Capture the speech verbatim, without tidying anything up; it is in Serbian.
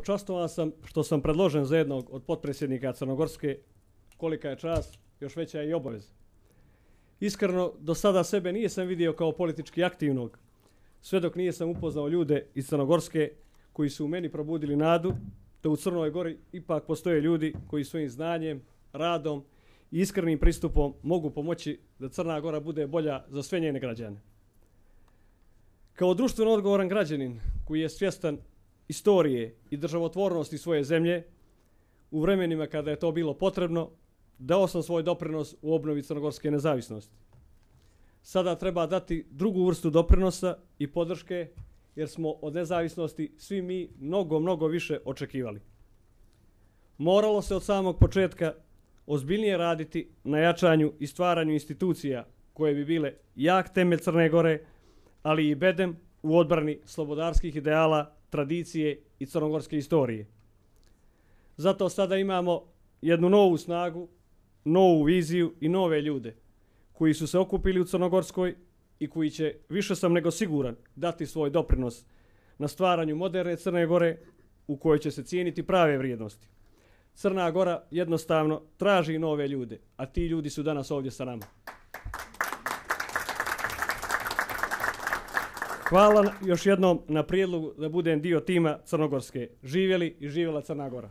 počastovan sam što sam predložen za jednog od potpredsjednika Crnogorske. Kolika je čast, još veća je i obaveza. Iskreno, do sada sebe nisam vidio kao politički aktivnog, sve dok nisam upoznao ljude iz Crnogorske koji su u meni probudili nadu da u Crnoj Gori ipak postoje ljudi koji svojim znanjem, radom i iskrenim pristupom mogu pomoći da Crna Gora bude bolja za sve njene građane. Kao društveno odgovoran građanin koji je svjestan istorije i državotvornosti svoje zemlje, u vremenima kada je to bilo potrebno, dao sam svoj doprinos u obnovi crnogorske nezavisnosti. Sada treba dati drugu vrstu doprinosa i podrške, jer smo od nezavisnosti svi mi mnogo, mnogo više očekivali. Moralo se od samog početka ozbiljnije raditi na jačanju i stvaranju institucija koje bi bile jak temelj Crne Gore, ali i bedem u odbrani slobodarskih ideala, tradicije i crnogorske istorije. Zato sada imamo jednu novu snagu, novu viziju i nove ljude koji su se okupili u Crnogorskoj i koji će, više sam nego siguran, dati svoj doprinos na stvaranju moderne Crne Gore u kojoj će se cijeniti prave vrijednosti. Crna Gora jednostavno traži nove ljude, a ti ljudi su danas ovdje sa nama. Hvala još jednom na prijedlogu da budem dio tima Crnogorske. Živjeli i živjela Crna Gora.